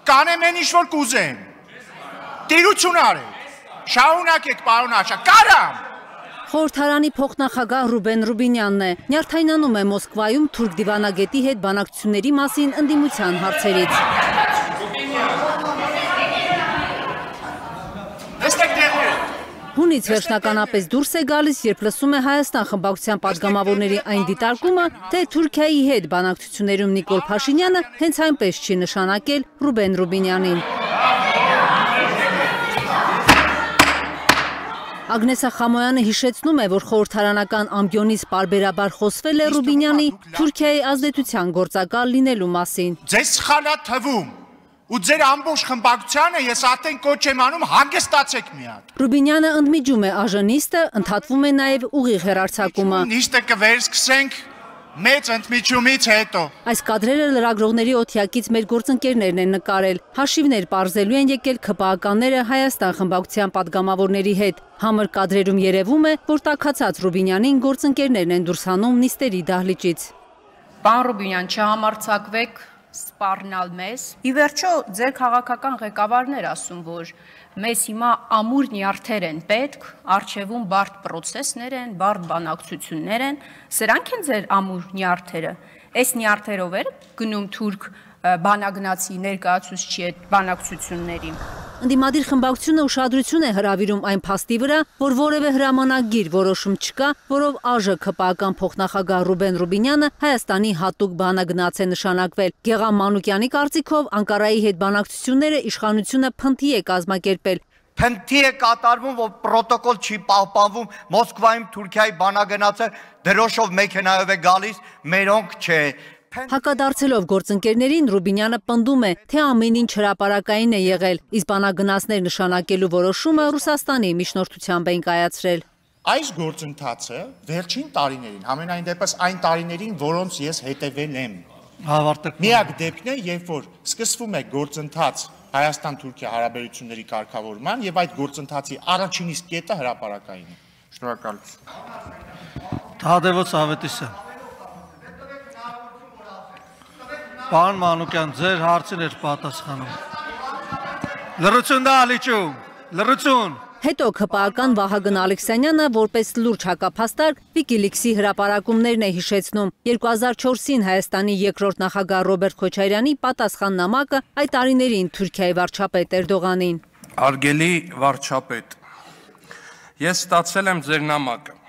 կանեմ են ինչ-որ կուզեմ, տիրություն արեք, շահունակեք պարոն Աշա, կարամ։ Խորհրդարանի փոխնախագահ Ռուբեն Ռուբինյանն է, նյարդայնանում է Մոսկվայում թուրք դիվանագետի հետ բանակցությունների մասին ընդդիմության հարցերից։ Հունից վերջնականապես դուրս է գալիս, երբ լսում է Հայաստան խմբակցության պատգամավորների այն դիտարկումը, թե Թուրքիայի հետ բանակցություններում Նիկոլ Փաշինյանը հենց այնպես չի նշանակել Ռուբեն Ռուբինյանին։ Ագնեսա Խամոյանը հիշեցնում է, որ խորհրդարանական ամբիոնից պարբերաբար խոսվել է Ռուբինյանի Թուրքիայի ազդեցության գործակալ լինելու մասին։ Ձեզ սխալ է թվում։ Ու ձեր ամբողջ խմբակցությանը ես արդեն կոչ եմ անում հանգստացեք մի հատ։ Ռուբինյանը ընդմիջում է ԱԺ-նիստը, ընդհատվում է նաև ուղիղ հեռարձակումը։ Նիստը կվերսկսենք մեծ ընդմիջումից հետո։ Այս կադրերը լրագրողների օթյակից մեր գործընկերներն են նկարել։ Հաշիվներ պարզելու են եկել ՔՊԱ-ականները Հայաստան խմբակցության պատգամավորների հետ։ Համր կադրերում երևում է, որ տաքացած Ռուբինյանին գործընկերներն են դուրս հանում նիստերի դահլիճից։ Պարոն Ռուբինյան, չհամարձակվեք սպառնալ մեզ։ Ի վերջո ձեր քաղաքական ղեկավարներ ասում, որ մեզ հիմա ամուր նյարդեր են պետք, առջևում բարդ պրոցեսներ են, բարդ բանակցություններ են, սրանք են ձեր ամուր նյարդերը։ Այս նյարդերով էր գնում թուրք բանագնացի ներկայացուցչի հետ բանակցությունների։ Ընդդիմադիր խմբակցությունը ուշադրություն է հրավիրում այն փաստի վրա, որ որևէ հրամանագիր որոշում չկա, որով ԱԺ ՔՊԱ-ական փոխնախագահ Ռուբեն Ռուբինյանը Հայաստանի հատուկ բանագնաց է նշանակվել։ Գեղամ Մանուկյանի կարծիքով Անկարայի հետ բանակցությունները իշխանությունը փնթի է կազմակերպել։ Փնթի է կատարվում, որ պրոտոկոլ չի պահպանվում, Մոսկվայում Թուրքիայի բանագնացը դրոշով մեքենայով է գալիս, մերոնք չէ։ Հակադարձելով գործընկերներին Ռուբինյանը պնդում է, թե ամեն ինչ հրապարակային է եղել, իսկ բանագնացներ նշանակելու որոշումը Ռուսաստանի միջնորդությամբ են կայացրել։ Այս գործընթացը վերջին տարիներին, համենայն դեպս այն տարիներին, որոնց ես հետևել եմ։ Միակ դեպքն է, երբ որ սկսվում է գործընթաց Հայաստան-Թուրքիա հարաբերությունների կարգավորման եւ այդ գործընթացի առաջին իսկ կետը հրապարակային է։ Շնորհակալություն։ Թադևոս Ավետիսյան։ Պարոն Մանուկյան, ձեր հարցին էր պատասխանում։ Լռություն դահլիճում, լռություն։ Հետո ՔՊԱ-ական Վահագն Ալեքսանյանը որպես լուրջ հակափաստարկ Վիկիլիքսի հրապարակումներն է հիշեցնում։ 2004-ին Հայաստանի երկրորդ նախագահ Ռոբերտ Քոչարյանի պատասխան նամակը այդ տարիներին Թուրքիայի վարչապետ Էրդողանին։ Արգելի վարչապետ, ես ստացել եմ ձեր նամակը,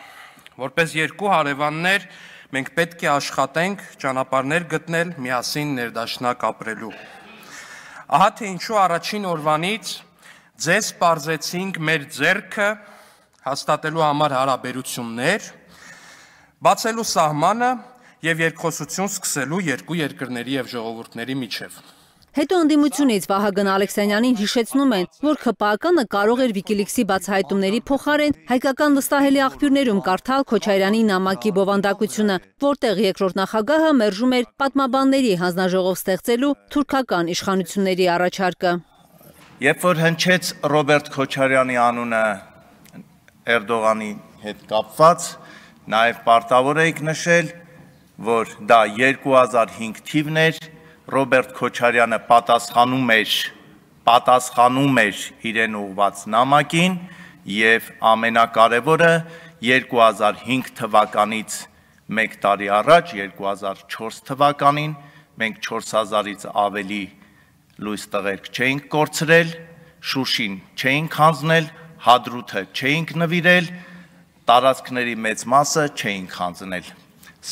որպես երկու հարևաններ մենք պետք է աշխատենք ճանապարհներ գտնել միասին ներդաշնակ ապրելու։ Ահա թե ինչու առաջին օրվանից ձեզ պարզեցինք մեր ձեռքը հաստատելու համար հարաբերություններ, բացելու սահմանը եւ երկխոսություն սկսելու երկու երկրների եւ ժողովուրդների միջև։ Հետո ընդդիմությունից Վահագն Ալեքսանյանին հիշեցնում են, որ ՔՊԱ-կանը կարող էր Վիկիլիքսի բացահայտումների փոխարեն հայկական վստահելի աղբյուրներում կարդալ Քոչարյանի նամակի բովանդակությունը, որտեղ երկրորդ նախագահը մերժում էր պատմաբանների հանձնաժողով ստեղծելու թուրքական իշխանությունների առաջարկը։ Երբ որ հնչեց Ռոբերտ Քոչարյանի անունը Էրդողանի հետ կապված, նաև պարտավոր էիք նշել, որ դա 2005 թիվն էր, Ռոբերտ Քոչարյանը պատասխանում էր իրեն ուղված նամակին և ամենակարևորը 2005 թվականից մեկ տարի առաջ, 2004 թվականին, մենք 4000-ից ավելի լույս տղերք չէինք կորցրել, Շուշին չէինք հանձնել, Հադրութը չէինք նվիրել, տարածքների մեծ մասը չէինք հանձնել,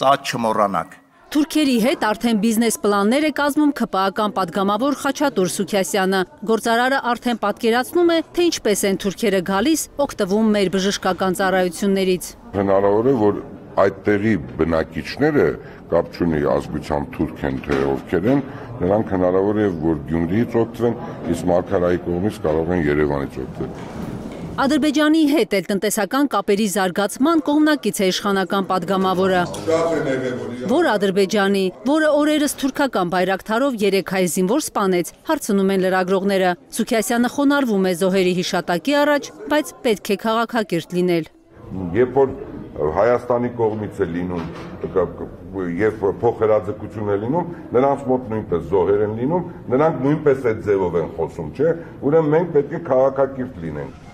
սա չմոռանաք։ Թուրքերի հետ արդեն բիզնես պլաններ է կազմում ՔՊԱ-ական պատգամավոր Խաչատուր Սուքիասյանը։ Գործարարը արդեն պատկերացնում է, թե ինչպես են թուրքերը գալիս, օգտվում մեր բժշկական ծառայություններից։ Հնարավոր է, որ այդտեղի բնակիչները կապ չունի ազգությամբ թուրք են, թե ովքեր են, նրանք հնարավոր է, որ Գյումրիից օգտվեն, իսկ Մարգարայի կողմից կարող են Երևանից օգտվել։ Ադրբեջանի հետ էլ տնտեսական կապերի զարգացման կողմնակից է իշխանական պատգամավորը։ Որ Ադրբեջանի, որը օրերս թուրքական բայրակթարով 3 հայ զինվոր սպանեց, հարցնում են լրագրողները։ Սուքիասյանը խոնարհվում է զոհերի հիշատակի առաջ, բայց պետք է քաղաքակիրթ լինել։ Երբ որ Հայաստանի կողմից է լինում եւ փոխհրաձգություն է լինում, նրանց մոտ նույնպես զոհեր են լինում, նրանք նույնպես այդ ձևով են խոսում, չէ՞։ Ուրեմն մենք պետք է քաղաքակիրթ լինենք։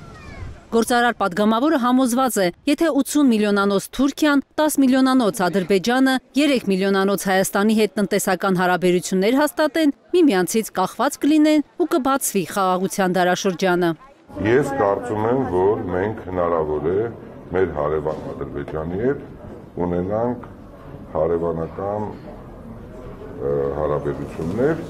Գործարար պատգամավորը համոզված է, եթե 80 միլիոնանոց Թուրքիան, 10 միլիոնանոց Ադրբեջանը, 3 միլիոնանոց Հայաստանի հետ տնտեսական հարաբերություններ հաստատեն, միմյանցից կախված կլինեն ու կբացվի խաղաղության դարաշրջանը։ Ես կարծում եմ, որ մենք հնարավոր է մեր հարևան Ադրբեջանի հետ ունենանք հարևանական հարաբերություններ։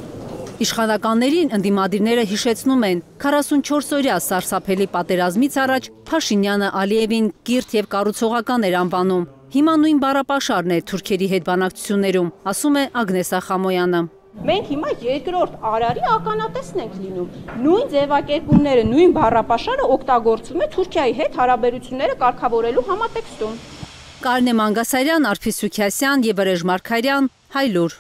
Իշխանականներին ընդդիմադիրները հիշեցնում են 44-օրյա սարսափելի պատերազմից առաջ Փաշինյանը Ալիևին կիրթ եւ կառուցողական էր անվանում։ Հիմա նույն բառապաշարն է թուրքերի հետ բանակցություններում, ասում է Ագնեսա Խամոյանը։ Մենք հիմա երկրորդ արարի ականատեսն ենք լինում։ Նույն ձևակերպումները, նույն բառապաշարը օգտագործվում է Թուրքիայի հետ հարաբերությունները կարգավորելու համատեքստում։ Կարինե Մանգասարյան, Արփիս Սուքիասյան եւ Վրեժ Մարգարյան, Հայլուր։